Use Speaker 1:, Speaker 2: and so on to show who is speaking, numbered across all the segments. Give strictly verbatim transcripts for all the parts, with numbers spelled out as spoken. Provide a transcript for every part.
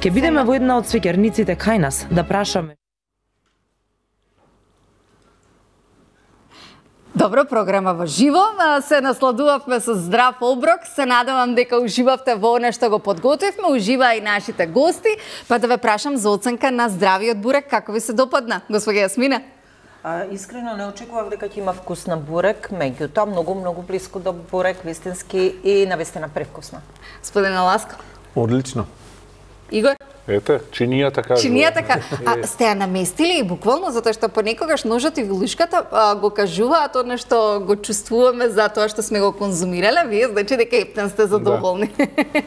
Speaker 1: Ќе бидеме во една од свеќарниците кај нас да прашаме.
Speaker 2: Добро, програма во живо, се насладувавме со здрав оброк, се надевам дека уживавте во она што го подготвивме, ужива и нашите гости, па да ве прашам за оценка на здравиот бурек, како ви се допадна, госпоѓа Јасмина?
Speaker 3: А, искрено не очекував дека ќе има вкус на бурек, меѓутоа многу многу блиско до бурек, вистински и навистина превкусна.
Speaker 2: Господина Ласко?
Speaker 4: Одлично.
Speaker 2: Игор?
Speaker 4: Ете, чинијата кажува.
Speaker 2: Чинијата кажува. А сте ја наместили и буквално, затоа што понекогаш ножот и вилушката а, го кажуваат одно што го чувствуваме за тоа што сме го конзумирале, вие значи дека ептен сте задоволни. Да.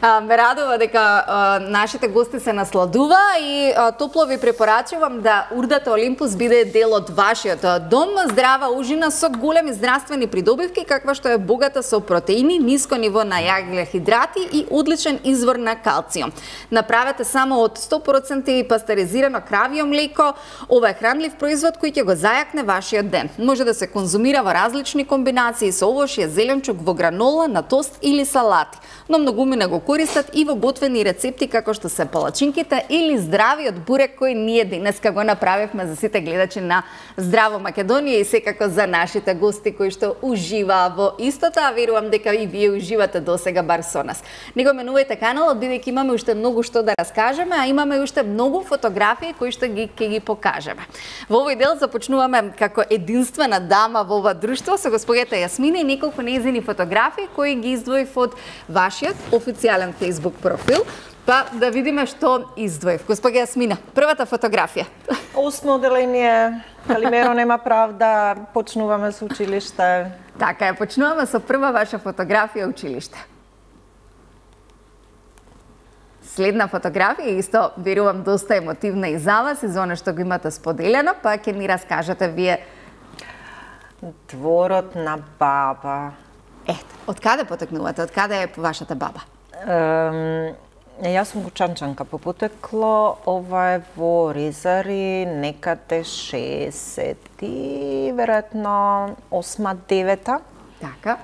Speaker 2: А, ме радува дека а, нашите гости се насладува и а, топло ви препорачувам да урдата Олимпус биде дел од вашиот дом. Здрава ужина со големи здравствени придобивки, каква што е богата со протеини, ниско ниво на јаглехидрати и одличен извор на калциум. Направете само од сто проценти пастеризирано кравје млеко. Ова е хранлив производ кој ќе го зајакне вашиот ден. Може да се конзумира во различни комбинации со овошје, зеленчук, во гранола, на тост или салати. Но многумина го користат и во готвени рецепти како што се палачинките или здравиот бурек кој ние денеска го направивме за сите гледачи на Здраво Македонија и секако за нашите гости кои што уживаа во истото, а верувам дека и вие уживате досега бар со нас. Не го менувајте каналот, бидејќи имаме уште многу што да раскажеме, а имаме уште многу фотографии кои што ги ќе ги покажеме. Во овој дел започнуваме како единствена дама во ова друштво со господјата Јасмина и неколку нејзини фотографии кои ги издвоив од вашиот официјален Facebook профил, па да видиме што издвоив. Господја Јасмина, првата фотографија.
Speaker 3: Осмо оделение, Калимеро нема правда, почнуваме со училиште.
Speaker 2: Така е, почнуваме со прва ваша фотографија училиште. Следна фотографија, исто верувам доста емотивна и за вас и за оно што го имате споделено, па ќе ни раскажете вие.
Speaker 3: Дворот на баба.
Speaker 2: Ето, од каде потекнувате? Од каде е вашата баба?
Speaker 3: Ем, јас сум Гучанчанка по потекло, ова е во Резари, некаде шеесети, веројатно осма, девета.
Speaker 2: Така.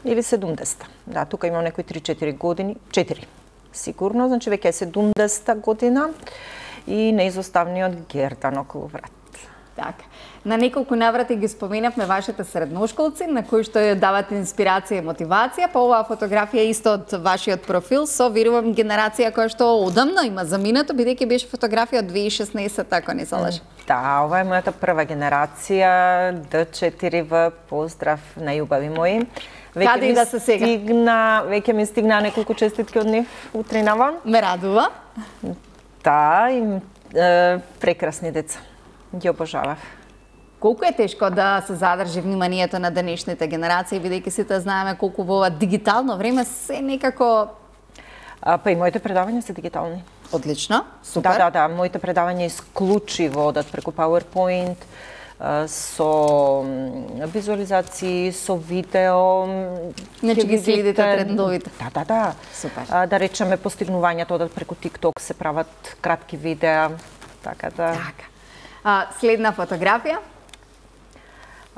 Speaker 3: Или седумдесета. Да, тука имам некои три-четири години, четири сигурно, значи веќе е седумдесета година и неизоставниот гердан околу врат.
Speaker 2: Така. На неколку наврати ги споменавме вашите средношколци, на кои што ја давате инспирација и мотивација, па оваа фотографија исто од вашиот профил, со верувам генерација која што одамна има заминато, бидејќи беше фотографија од две илјади и шеснаесета, ако не се лажам.
Speaker 3: Да, ова е мојата прва генерација, Д четири В, поздрав на љубави мои. Веќе
Speaker 2: Каде и да се сега?
Speaker 3: Стигна, веќе ми стигна неколку честитки од нив утринава.
Speaker 2: Ме радува.
Speaker 3: Да, и е, прекрасни деца. Ги обожавав.
Speaker 2: Колку е тешко да се задржи вниманието на денешните генерации, бидејќи сите знаеме колку во ова дигитално време се некако...
Speaker 3: А, па и моите предавања се дигитални.
Speaker 2: Одлично, супер.
Speaker 3: Да, да, да, моите предавања исклучиво одат преку PowerPoint, со визуализации, со видео.
Speaker 2: Значи ги следите трендовите.
Speaker 3: Да, да, да.
Speaker 2: Супер.
Speaker 3: А, да речеме постигнувањата одат преку TikTok, се прават кратки видеа, така да.
Speaker 2: Така. А, следна фотографија?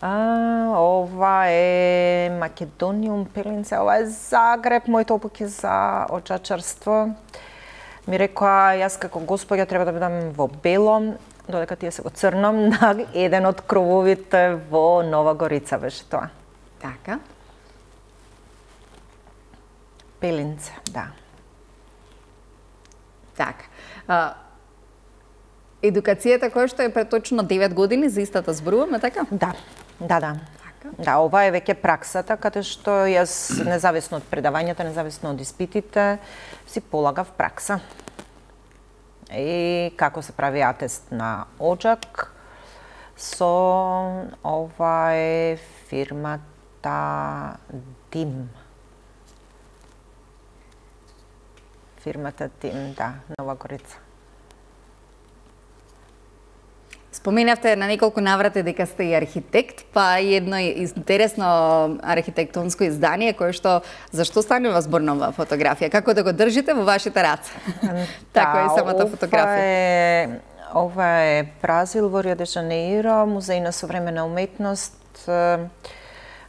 Speaker 3: А, ова е Македониум Пелинце, ова е Загреб, моите опуки за очачарство. Ми рекоа, јас како господја треба да бидам во бело, додека тие се во црно, на еден од крововите во Нова Горица беше тоа.
Speaker 2: Така.
Speaker 3: Пелинце, да.
Speaker 2: Така. А, едукацијата која што е пред точно девет години, за истата зборуваме, така?
Speaker 3: Да, да, да. Да, ова е веќе праксата, каде што јас, независно од предавањата, независно од испитите, си полагав пракса. И како се прави атест на оџак, со ова е фирмата Дим. Фирмата Дим, да, Нова Горица.
Speaker 2: Споменавте на неколку наврати дека сте и архитект, па и едно интересно архитектонско издание кое што зашто станува збор на оваа фотографија, како да го држите во вашите раце. Така е самата фотографија.
Speaker 3: Е, ова е Бразил во Рио де Жанеиро, музеј на современа уметност.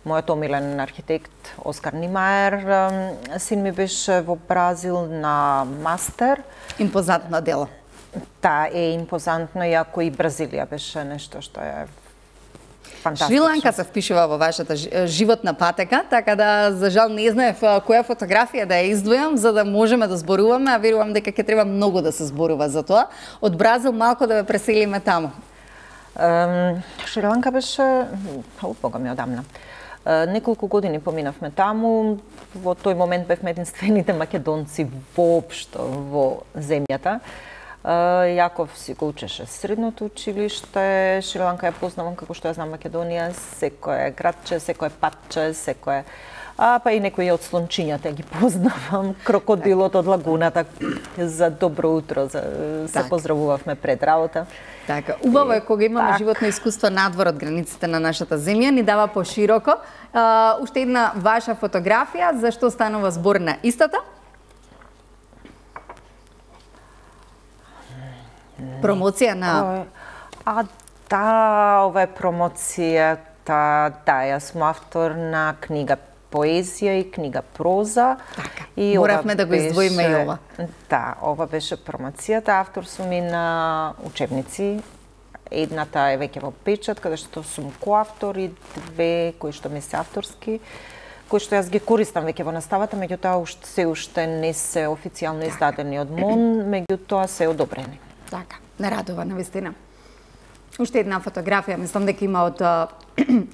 Speaker 3: мојот омилен архитект Оскар Нимаер. Син ми беше во Бразил на мастер.
Speaker 2: Импозантно дело.
Speaker 3: Та е импозантно, иако и Бразилија беше нешто што е фантастично.
Speaker 2: Шри-Ланка се впишува во вашата животна патека, така да за жал не знаев која фотографија да ја издвојам за да можеме да зборуваме, а верувам дека ќе треба многу да се зборува за тоа. Од Бразил малку да ве преселиме таму.
Speaker 3: Um, Шри-Ланка беше, о, бога ми одамна. Uh, неколку години поминавме таму, во тој момент бевме единствените македонци воопшто во земјата. Uh, Јаков си го учеше средното училиште, Шри-Ланка ја познавам како што ја знам Македонија, секое градче, секое патче, секое... А, па и некои од слончињата ги познавам, крокодилот од лагуната, за добро утро, за, се
Speaker 2: так.
Speaker 3: поздравувавме пред работа.
Speaker 2: Така, убаво е кога имаме так. животно искуство надвор од границите на нашата земја, ни дава пошироко. Uh, уште една ваша фотографија, за што станува збор на истата? Промоција на...
Speaker 3: А, да, ова е промоцијата, да, јас сум автор на книга поезија и книга проза.
Speaker 2: Така,
Speaker 3: и
Speaker 2: моравме да го издвоиме и ова.
Speaker 3: Да, ова беше промоцијата, автор сум и на учебници. Едната е веќе во печат, каде што сум коавтор, и две кои што ми се авторски, кои што јас ги користам веќе во наставата, меѓутоа уште се уште не се официјално издадени од МОН, меѓутоа се одобрени.
Speaker 2: Така, не радува навистина. Уште една фотографија, мислам дека има од uh,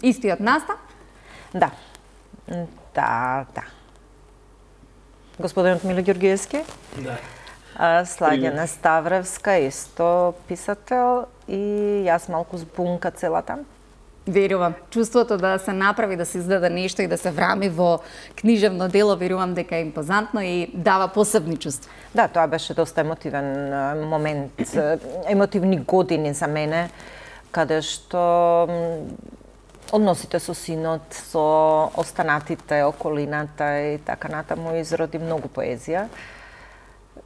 Speaker 2: истиот настав.
Speaker 3: Да. Да, да. Господинот Миле Ѓоргиевски?
Speaker 4: Да.
Speaker 3: Слагена Ставревска, исто писател, и јас малку збунка целата.
Speaker 2: Верувам. Чувството да се направи, да се издаде нешто и да се врами во книжевно дело, верувам дека е импозантно и дава посебни чувства.
Speaker 3: Да, тоа беше доста емотивен момент, емотивни години за мене, каде што односите со синот, со останатите, околината и така натаму изроди многу поезија.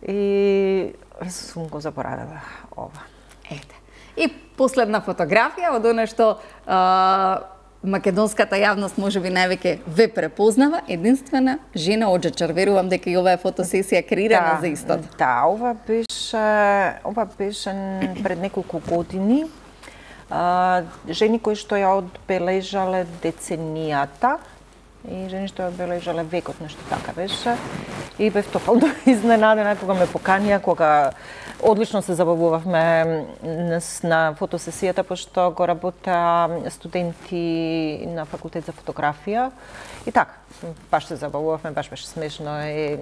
Speaker 3: И сум го заборавила ова.
Speaker 2: Ете. И последна фотографија од оно што а, македонската јавност можеби највеќе ве препознава, единствена жена оџачар. Верувам дека и ова е фотосесија креирана
Speaker 3: да,
Speaker 2: за истото.
Speaker 3: Да, ова беше ова беше пред неколку години. А, жени кои што ја одбележале деценијата и жени што ја одбележале векот, нешто така беше. И бев тотално изненадена кога ме поканија, кога одлично се забавувавме на фотосесијата, пошто го работа студенти на факултет за фотографија. И така, баш се забавувавме, баш беше смешно. И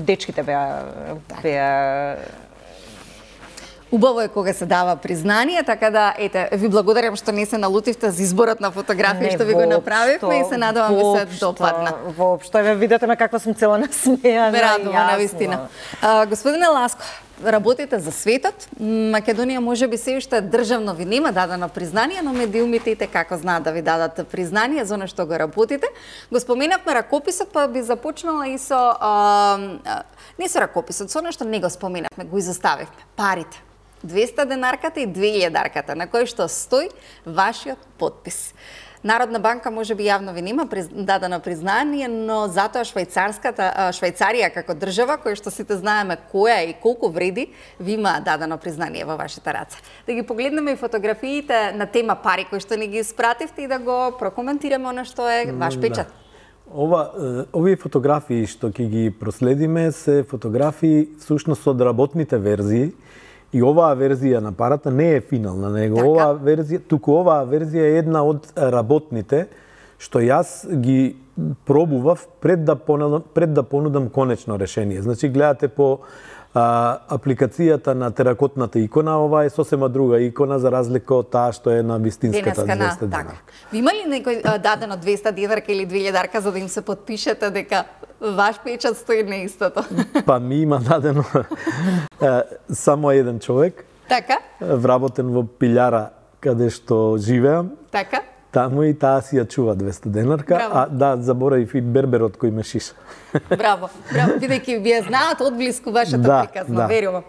Speaker 3: дечките беа беа
Speaker 2: Убаво е кога се дава признание, така да, ете, ви благодарам што не се налутивте за изборот на фотографија што ви го направивме и се надевам ви се допадна.
Speaker 3: Воопшто, ве видете ме каква сум цела насмејана.
Speaker 2: Ме радува, навистина. Господине Ласко, работите за светот. Македонија можеби се уште државно ви нема дадено признание, но медиумите и како знаат да ви дадат признание за она што го работите. Го споменавме ракописот, па би започнала и со а, не со ракописот, со она што не го споменавме, го изоставивме. Парите. двеста денарката и две илјадарката, на кој што стои вашиот подпис. Народна банка можеби јавно ви нема дадено признание, но затоа швајцарската Швајцарија како држава, која што сите знаеме која и колку вреди, ви има дадено признание во вашите раце. Да ги погледнеме и фотографиите на тема пари кои што ни ги испративте и да го прокоментираме она што е ваш печат.
Speaker 5: Ова, овие фотографии што ќе ги проследиме се фотографии всушност од работните верзии. И оваа верзија на парата не е финална, него така? оваа верзија, туку оваа верзија е една од работните што јас ги пробував пред да понудам, пред да понудам конечно решение. Значи гледате по а, апликацијата на теракотната икона, ова е сосема друга икона за разлика од таа што е на вистинската двеста денарка.
Speaker 2: Ви има ли некој дадено двеста денарка или две илјадарка за да им се подпишете дека ваш печат стои на истото?
Speaker 5: Па ми има дадено само еден човек.
Speaker 2: Така?
Speaker 5: Вработен во пилјара каде што живеам.
Speaker 2: Така?
Speaker 5: Таму и таа си ја чува двеста денарка,
Speaker 2: Браво.
Speaker 5: а да, заборавив и берберот кој ме шиша.
Speaker 2: Браво, браво, бидејќи вие знаат одблиску вашата
Speaker 5: да,
Speaker 2: приказна,
Speaker 5: да.
Speaker 2: верувам.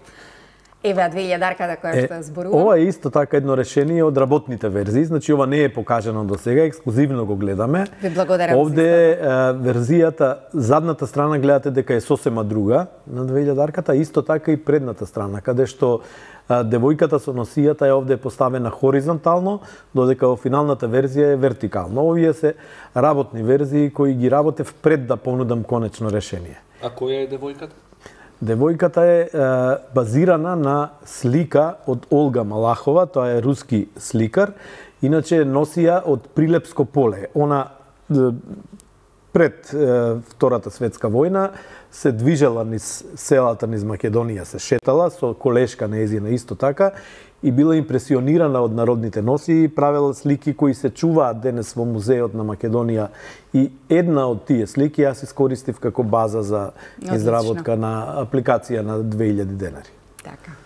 Speaker 2: Еве две илјадарката која што ја зборувам.
Speaker 5: Ова е исто така едно решение од работните верзии, значи ова не е покажано до сега, ексклузивно го гледаме.
Speaker 2: Ви благодарам.
Speaker 5: Овде е, верзијата, задната страна гледате дека е сосема друга на две илјадарката, исто така и предната страна, каде што а, девојката со носијата е овде поставена хоризонтално, додека во финалната верзија е вертикално. Овие се работни верзии кои ги работев пред да понудам конечно решение.
Speaker 4: А која е девојката?
Speaker 5: Девојката е, е базирана на слика од Олга Малахова, тоа е руски сликар, иначе носија од Прилепско поле. Она е, пред е, Втората светска војна се движела низ селата низ Македонија, се шетала со колешка нејзина исто така и била импресионирана од народните носи и правела слики кои се чуваат денес во музеот на Македонија и една од тие слики јас искористив како база за изработка на апликација на две илјади денари.
Speaker 2: Така.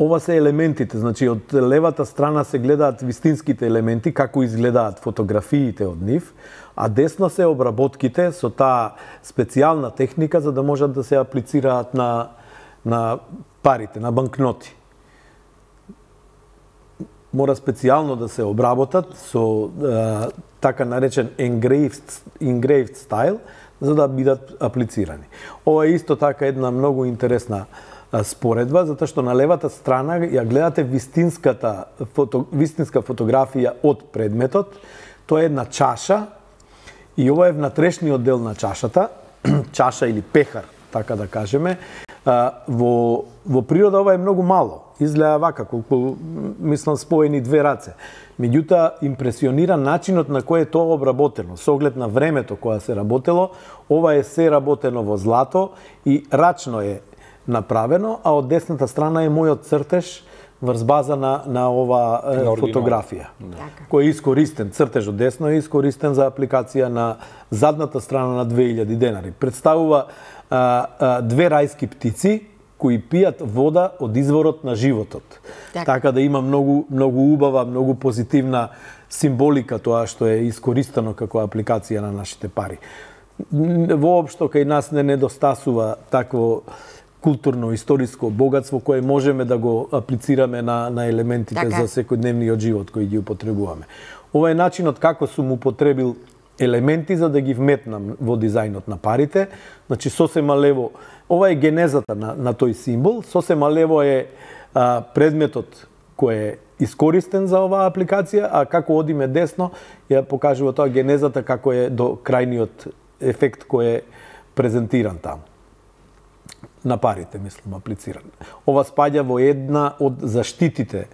Speaker 5: Ова се елементите, значи од левата страна се гледаат вистинските елементи, како изгледаат фотографиите од нив, а десно се обработките со таа специјална техника за да можат да се аплицираат на на парите, на банкноти. Мора специјално да се обработат со е, така наречен engraved, engraved style, за да бидат аплицирани. Ова е исто така една многу интересна споредба, затоа што на левата страна ја гледате вистинската фото, вистинска фотографија од предметот. Тоа е една чаша и ова е внатрешниот дел на чашата, чаша или пехар, така да кажеме. Во, во природа ова е многу мало. Изгледа вака, колку, мислам, споени две раце. Меѓутоа, импресионира начинот на кој е тоа обработено. Со оглед на времето кога се работело, ова е се работено во злато и рачно е направено, а од десната страна е мојот цртеж врз база на, на ова е, фотографија. Да. Кој е искористен, цртеж од десно е искористен за апликација на задната страна на две илјади денари. Представува а, а, две рајски птици кои пијат вода од изворот на животот. Так. Така да има многу многу убава, многу позитивна символика тоа што е искористено како апликација на нашите пари. Воопшто кај нас не недостасува такво културно-историско богатство кое можеме да го аплицираме на, на елементите така за секојдневниот живот кои ги употребуваме. Ова е начинот како сум употребил елементи за да ги вметнам во дизајнот на парите. Значи, сосема лево, ова е генезата на, на тој символ, сосема лево е а, предметот кој е искористен за оваа апликација, а како одиме десно, ја покажува тоа генезата како е до крајниот ефект кој е презентиран таму. На парите, мислам, аплициран. Ова спаѓа во една од заштитите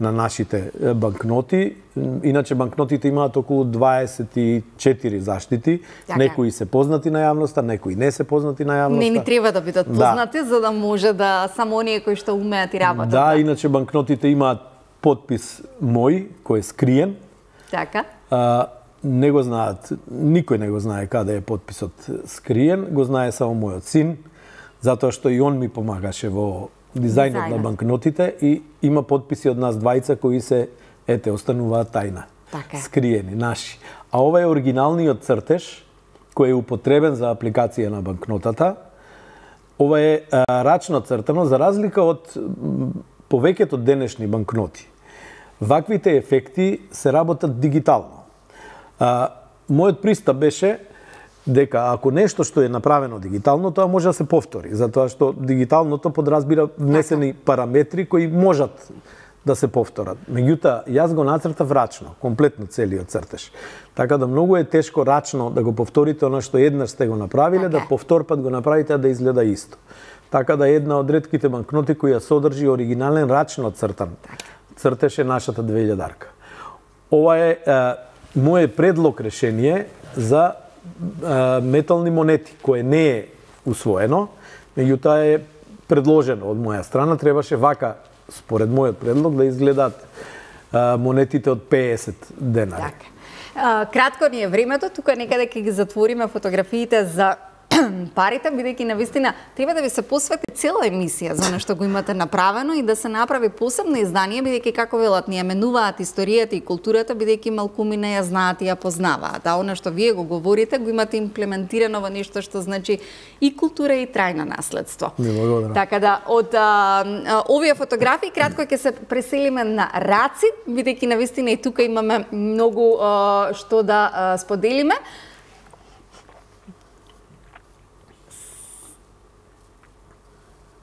Speaker 5: на нашите банкноти. Иначе банкнотите имаат околу дваесет и четири заштити. Така. Некои се познати на јавноста, некои не се познати на јавноста.
Speaker 2: Не ни треба да бидат познати, да, за да може да само оние кои што умеат и работат.
Speaker 5: Да, да, иначе банкнотите имаат подпис мој, кој е скриен.
Speaker 2: Така.
Speaker 5: А, не го знаат, никој не го знае каде е подписот скриен, го знае само мојот син, затоа што и он ми помагаше во дизајнот Дизайнът. на банкнотите и има подписи од нас двајца кои се, ете, остануваат тајна.
Speaker 2: Така.
Speaker 5: Скриени, наши. А ова е оригиналниот цртеж кој е употребен за апликација на банкнотата. Ова е а, рачно цртано, за разлика од повеќето денешни банкноти. Ваквите ефекти се работат дигитално. А, мојот пристап беше дека ако нешто што е направено дигитално, тоа може да се повтори, затоа што дигиталното подразбира внесени параметри кои можат да се повторат. Меѓутоа, јас го нацртав рачно, комплетно целиот цртеж. Така да многу е тешко рачно да го повторите оно што еднаш сте го направиле, така. Да повторпат го направите, а да изгледа исто. Така да една од ретките банкноти која содржи оригинален рачно цртан цртеж е нашата две илјадарка. Ова е, е моје предлог решение за метални монети, кое не е усвоено, меѓутоа е предложено од моја страна. Требаше вака, според мојот предлог, да изгледаат монетите од пеесет денари.
Speaker 2: Така. Кратко ни е времето, тука некаде ќе ги затвориме фотографиите за парите, бидејќи навистина треба да ви се посвети цела емисија за она што го имате направено и да се направи посебно издание, бидејќи како велат ни ја менуваат историјата и културата, бидејќи малкуми не ја знаат и ја познаваат. А она што вие го говорите, го имате имплементирано во нешто што значи и култура и трајно наследство. Така да од а, овие фотографии кратко ќе се преселиме на раци, бидејќи навистина и тука имаме многу а, што да а, споделиме.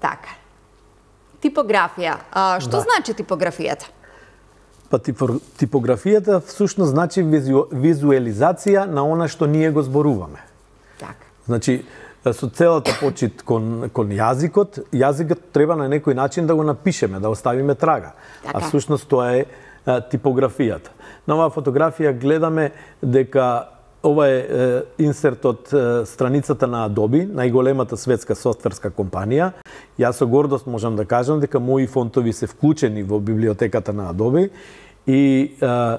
Speaker 2: Така. Типографија. А, што
Speaker 5: Да.
Speaker 2: значи типографијата?
Speaker 5: Па типо- типографијата всушност значи визу, визуелизација на она што ние го зборуваме.
Speaker 2: Така.
Speaker 5: Значи, со целата почит кон, кон јазикот, јазикот треба на некој начин да го напишеме, да оставиме трага.
Speaker 2: Така.
Speaker 5: А всушност тоа е а, типографијата. На оваа фотографија гледаме дека ова е, е инсерт од е, страницата на Adobe, најголемата светска софтверска компанија. Јас со гордост можам да кажам дека мои фонтови се вклучени во библиотеката на Adobe и е,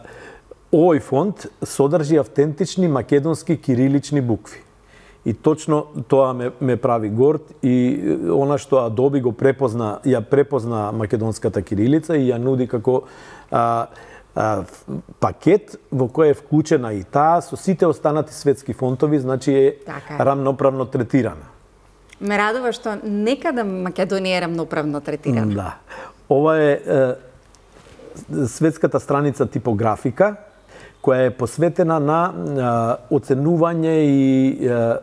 Speaker 5: овој фонт содржи автентични македонски кирилични букви. И точно тоа ме, ме прави горд и она што Adobe го препозна, ја препозна македонската кирилица и ја нуди како а, а, пакет во кој е вклучена и таа со сите останати светски фонтови, значи е
Speaker 2: Така е.
Speaker 5: рамноправно третирана.
Speaker 2: Ме радува што некада Македонија е рамноправно третирана.
Speaker 5: Да. Ова е, е светската страница типографика, која е посветена на а, оценување и а,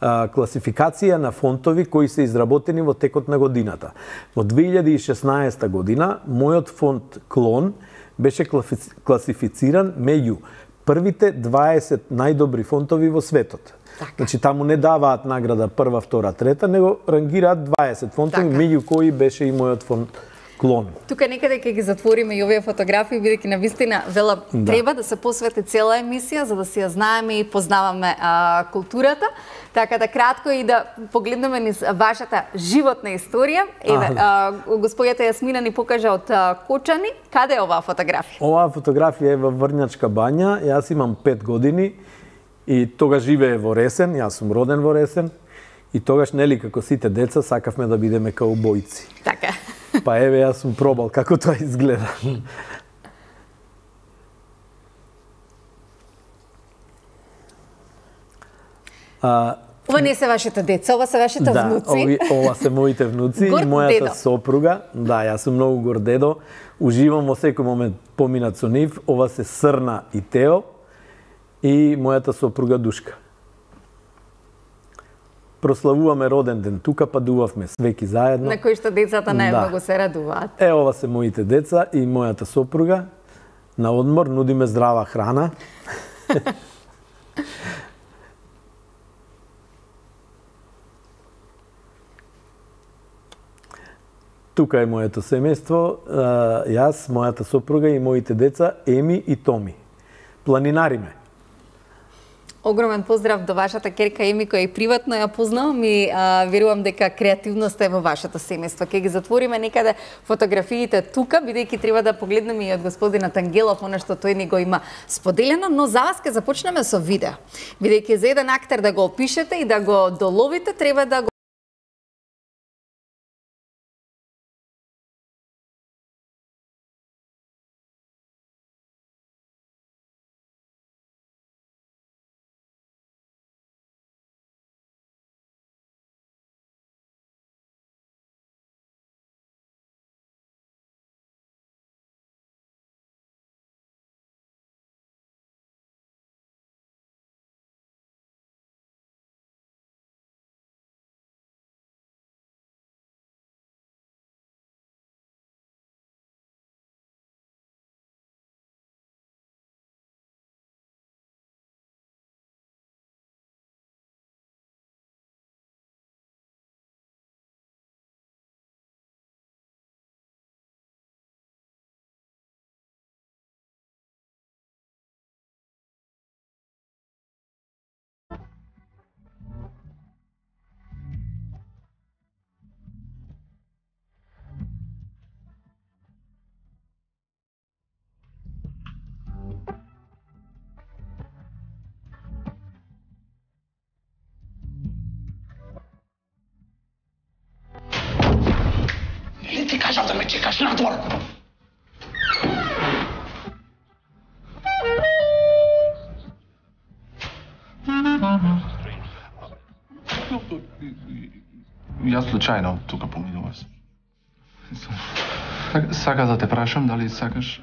Speaker 5: а, класификација на фонтови кои се изработени во текот на годината. Во две илјади и шеснаесета година, мојот фонт Клон беше класифициран меѓу првите дваесет најдобри фонтови во светот.
Speaker 2: Така.
Speaker 5: Значи, таму не даваат награда прва, втора, трета, него рангираат дваесет фонтови,
Speaker 2: Така.
Speaker 5: меѓу кои беше и мојот фонт Клон.
Speaker 2: Тука некаде ќе ги затвориме и овие фотографии, бидејќи навистина вела
Speaker 5: Да.
Speaker 2: треба да се посвети цела емисија за да си ја знаеме и познаваме а, културата. Така да кратко и да погледнеме низ вашата животна историја. Еве, а, господјата Јасмина ни покажа од а, Кочани. Каде е оваа фотографија?
Speaker 5: Оваа фотографија е во Врњачка бања. Јас имам пет години и тогаш живее во Ресен. Јас сум роден во Ресен. И тогаш, нели, како сите деца, сакавме да бидеме каубојци.
Speaker 2: Така.
Speaker 5: Па еве, јас сум пробал како тоа изгледа. А,
Speaker 2: Ова не се вашите деца, ова се вашите
Speaker 5: да,
Speaker 2: внуци.
Speaker 5: ови, ова се моите внуци
Speaker 2: Горд
Speaker 5: и мојата
Speaker 2: дедо.
Speaker 5: сопруга. Да, јас сум многу горд дедо. Уживам во секој момент поминат со нив. Ова се Срна и Тео и мојата сопруга Душка. Прославуваме роден ден тука, падувавме свеки заедно.
Speaker 2: На кои што децата најмногу
Speaker 5: Да.
Speaker 2: се радуваат.
Speaker 5: Е, ова се моите деца и мојата сопруга. На одмор нудиме здрава храна. Тука е моето семејство, а, јас, мојата сопруга и моите деца Еми и Томи. Планинариме.
Speaker 2: Огромен поздрав до вашата керка Еми, која и приватно ја познавам и а, верувам дека креативноста е во вашето семејство. Ке ги затвориме некаде фотографиите тука, бидејќи треба да погледнеме и од господинот Ангелов, она што тој ни го има споделено, но за вас ке започнеме со видео. Бидејќи за еден актер да го опишете и да го доловите, треба да го
Speaker 6: Секаш надвор! Јас случајно тука поминував. Сакаш да те прашам дали сакаш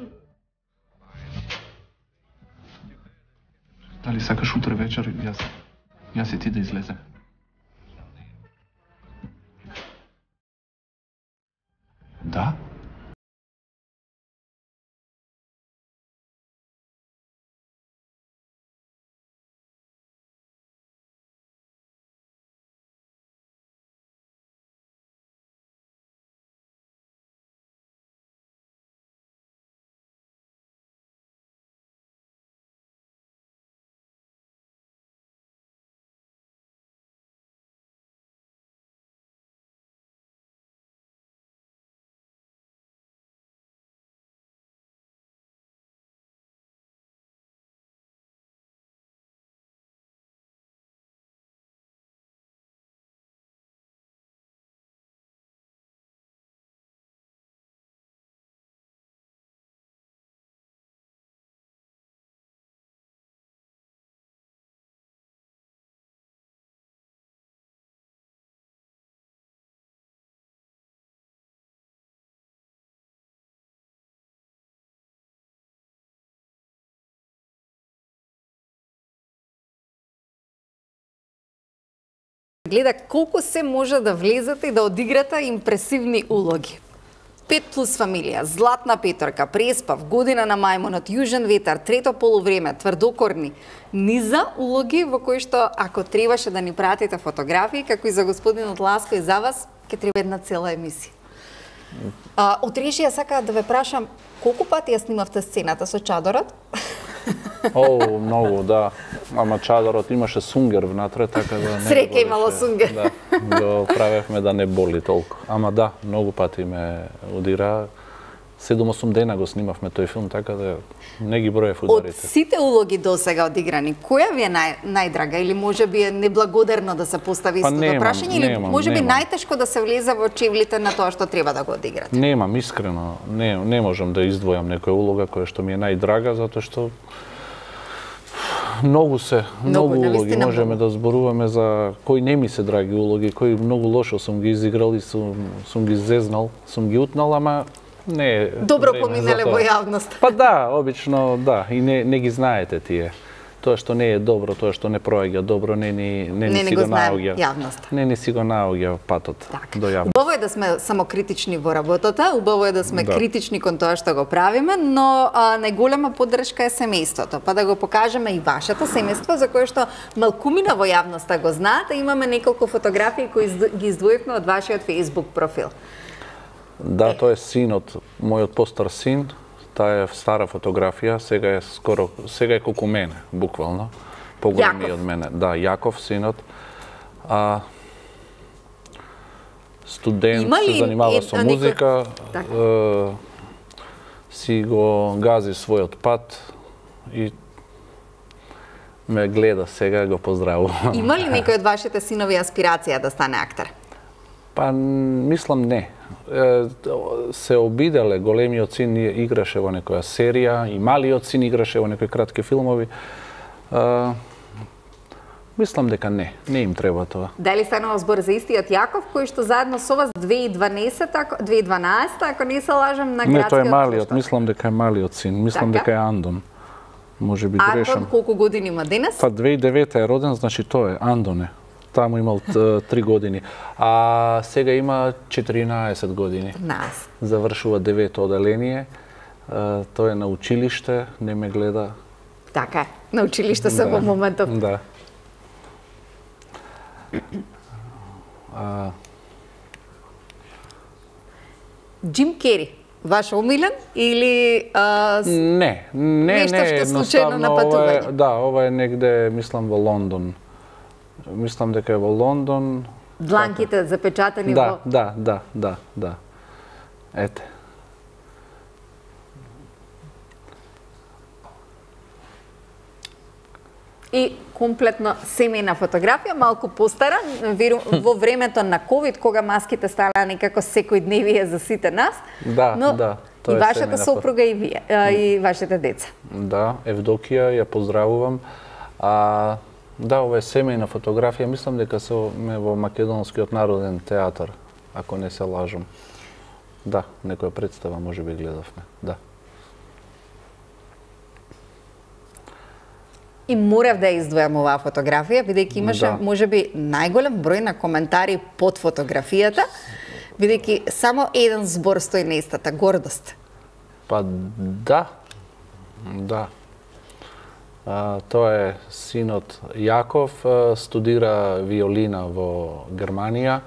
Speaker 6: Дали сакаш утре вечер јас јас и ти да излезем? Да?
Speaker 2: Гледа колку се може да влезете и да одиграте импресивни улоги. Пет плюс фамилија, Златна Петорка, Преспав, Година на мајмунот, Јужен ветар, Трето полувреме, Тврдокорни. Низа улоги во кои што ако требаше да ни пратите фотографии, како и за господинот Ласко и за вас, ќе треба една цела емисија. А, од режија сакаат да ве прашам, колку пати ја снимавте сцената со чадорот?
Speaker 4: О, многу, да. Ама чадорот имаше сунгер внатре, така да не
Speaker 2: Среќа имало сунгер.
Speaker 4: Да, го правевме да не боли толку. Ама да, многу пати ме удира. седум-осум дена го снимавме тој филм, така да не ги броев ударите.
Speaker 2: Од сите улоги до сега одиграни, која ви е нај, најдрага или може би е неблагодарно да се постави
Speaker 4: па,
Speaker 2: истото
Speaker 4: немам,
Speaker 2: прашање или
Speaker 4: немам,
Speaker 2: може би
Speaker 4: немам.
Speaker 2: најтешко да се влезе во чевлите на тоа што треба да го одиграте?
Speaker 4: Немам, искрено, не, не можам да издвојам некоја улога која што ми е најдрага, затоа што многу се, многу, многу улоги можеме да зборуваме за кои не ми се драги улоги, кои многу лошо сум ги изиграл и сум, сум ги зезнал, сум ги утнал, ама не е
Speaker 2: добро поминале во јавност.
Speaker 4: Па да, обично да, и не, не ги знаете тие. Тоа што не е добро, тоа што не проаѓа добро, не ни не,
Speaker 2: не,
Speaker 4: не си
Speaker 2: го
Speaker 4: го наоѓа.
Speaker 2: Јавноста.
Speaker 4: Не ни си го наоѓа патот
Speaker 2: так.
Speaker 4: до јавност.
Speaker 2: Убаво е да сме самокритични во работата, убаво е да сме да. критични кон тоа што го правиме, но а, најголема поддршка е семејството, па да го покажеме и вашето семејство за кое што малкумина во јавноста го знаат, имаме неколку фотографии кои ги издвоивме од вашиот Facebook профил.
Speaker 4: Да, тоа е синот, мојот постар син. Таа е стара фотографија, сега е скоро, сега е колку мене, буквално. Поголеми од мене. Да, Јаков, синот. А, студент, се занимава е, со музика, некој... е, си го гази својот пат и ме гледа сега, го поздравувам.
Speaker 2: Има ли некој од вашите синови аспирација да стане актер?
Speaker 4: Па, мислам не. Се обиделе, големиот син играше во некоја серија, и малиот син играше во некои кратки филмови. А, мислам дека не, не им треба тоа.
Speaker 2: Дали станува збор за истиот Јаков, кој што заедно со вас две илјади и дванаесета, ако не се лажам, на градскиот
Speaker 4: Не, тој е малиот, мислам дека е малиот син, мислам така? дека е Андон. Може би грешам.
Speaker 2: Андон колку години има денес?
Speaker 4: Па две илјади и девета е роден, значи тоа е Андоне. Таму имал три години. А сега има четиринаесет години.
Speaker 2: Нас.
Speaker 4: Завршува девето оделение. Тој е на училиште, не ме гледа.
Speaker 2: Така е. На училиште се во моментот.
Speaker 4: Да. А...
Speaker 2: Джим Кери, ваш омилен или а,
Speaker 4: не, не,
Speaker 2: нешто
Speaker 4: не,
Speaker 2: што случајно на патување?
Speaker 4: Ова е, да, ова е негде, мислам, во Лондон. Мислам дека е во Лондон.
Speaker 2: Дланките запечатани
Speaker 4: да,
Speaker 2: во...
Speaker 4: Да, да, да, да. Ете.
Speaker 2: и комплетно семејна фотографија, малку постара, веру, во времето на ковид, кога маските станаа некако секојдневие за сите нас.
Speaker 4: Да,
Speaker 2: но
Speaker 4: да.
Speaker 2: И вашата сопруга и вие, и вашите деца.
Speaker 4: Да, Евдокија, ја поздравувам. А, да, ова е семејна фотографија, мислам дека сме во Македонскиот народен театар, ако не се лажам. Да, некоја представа може би гледавме, да.
Speaker 2: И морав да ја издвојам оваа фотографија, бидејќи имаше,
Speaker 4: да.
Speaker 2: можеби, најголем број на коментари под фотографијата, бидејќи само еден збор стои на истата, гордост.
Speaker 4: Па да, да. А, тоа е синот Јаков, студира виолина во Германија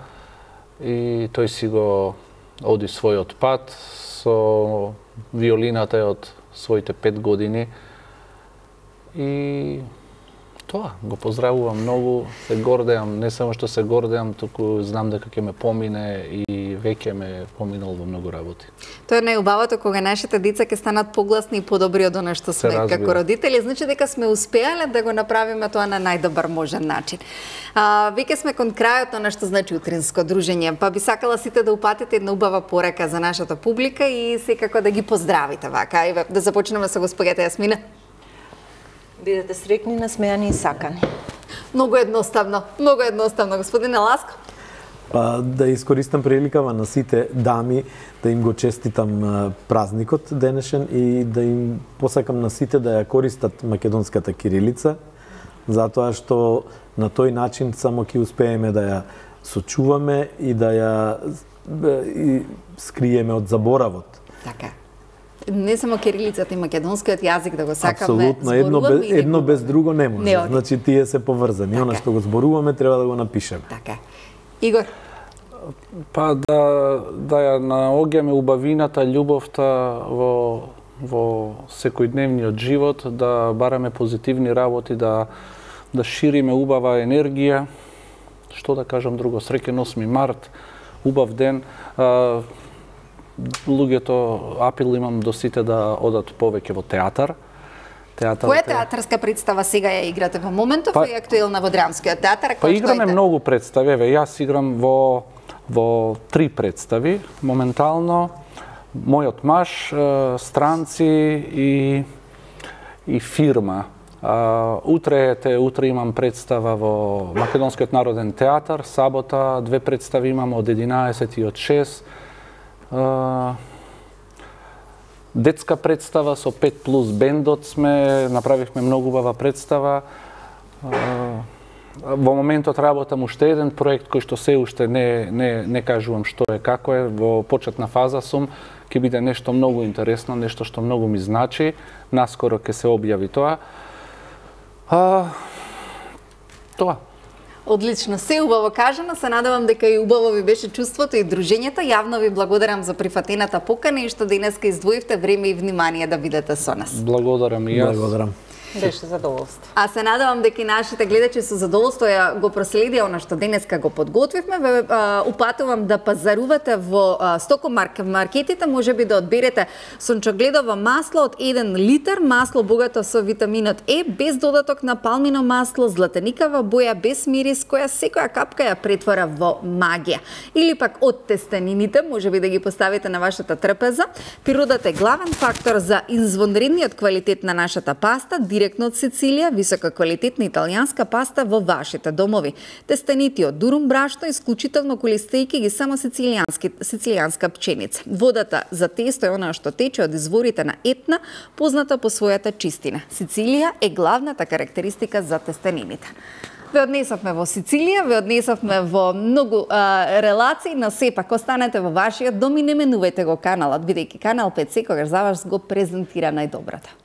Speaker 4: и тој си го оди својот пат со виолината е од своите пет години. И тоа, го поздравувам многу, се гордеам, не само што се гордеам, туку знам дека ќе ме помине и веќе ме поминал во многу работи.
Speaker 2: Тоа е најубавото кога нашите деца ќе станат погласни и подобри од она што сме како родители, значи дека сме успеале да го направиме тоа на најдобар можен начин. А, веќе сме кон крајот на што значи утринско дружење, па би сакала сите да упатите една убава порака за нашата публика и секако да ги поздравите вака. Еве да започнеме со госпоѓата Јасмина.
Speaker 3: Бидете среќни, насмејани и сакани.
Speaker 2: Многу едноставно, многу едноставно, господине Ласко.
Speaker 5: Па да искористам приликава на сите дами да им го честитам празникот денешен и да им посакам на сите да ја користат македонската кирилица, затоа што на тој начин само ќе успееме да ја сочуваме и да ја и скриеме од заборавот.
Speaker 2: Така. Не само кирилицата и македонскиот јазик да го сакаме,
Speaker 5: апсолутно, едно без, едно без друго не може. Не значи тие се поврзани. Така. Она што го зборуваме треба да го напишеме.
Speaker 2: Така. Игор?
Speaker 4: Па да да ја наоѓаме убавината, љубовта во во секојдневниот живот, да бараме позитивни работи, да да шириме убава енергија. Што да кажам друго? Среќен осми март, убав ден. А, луѓето, апел имам до сите да одат повеќе во театар.
Speaker 2: Театар, Која театарска представа сега ја играте во моментов па, и актуелна во Драмскиот театар?
Speaker 4: Па играме многу представи, еве јас играм во во три представи моментално. Мојот маж, Странци и и фирма. А, утре те утре имам представа во Македонскиот народен театар, сабота две представи имам од единаесет и од шест. Uh, детска представа со пет плюс бендот сме, направивме многу убава представа. Uh, во моментот работам уште еден проект кој што се уште не, не, не кажувам што е, како е, во почетна фаза сум, ќе биде нешто многу интересно, нешто што многу ми значи, наскоро ќе се објави тоа. Uh, тоа.
Speaker 2: Одлично, се убаво кажано, се надевам дека и убаво ви беше чувството и дружењето. Јавно ви благодарам за прифатената покана и што денеска издвоивте време и внимание да бидете со нас.
Speaker 4: Благодарам и јас.
Speaker 5: Благодарам.
Speaker 3: Беше задоволство.
Speaker 2: А се надевам дека и нашите гледачи со задоволство ја го проследија она што денеска го подготвивме. Ве упатувам да пазарувате во стокомаркетите, можеби да одберете сончогледово масло од еден литар, масло богато со витаминот Е, без додаток на палмино масло, златеникава боја, без мирис, која секоја капка ја претвора во магија. Или пак од тестенините, можеби да ги поставите на вашата трпеза. Природата е главен фактор за извонредниот квалитет на нашата паста, директно од Сицилија, висококвалитетна италијанска паста во вашите домови. Тестените од дурум брашно, исклучително колистејки ги само сицилијански сицилијанска пченица. Водата за тесто е она што тече од изворите на Етна, позната по својата чистина. Сицилија е главната карактеристика за тестенините. Ве однесовме во Сицилија, ве однесовме во многу а, релации, но сепак останете во вашиот дом и не менувајте го каналот, бидејќи Канал пет секогаш за вас го презентира најдоброто.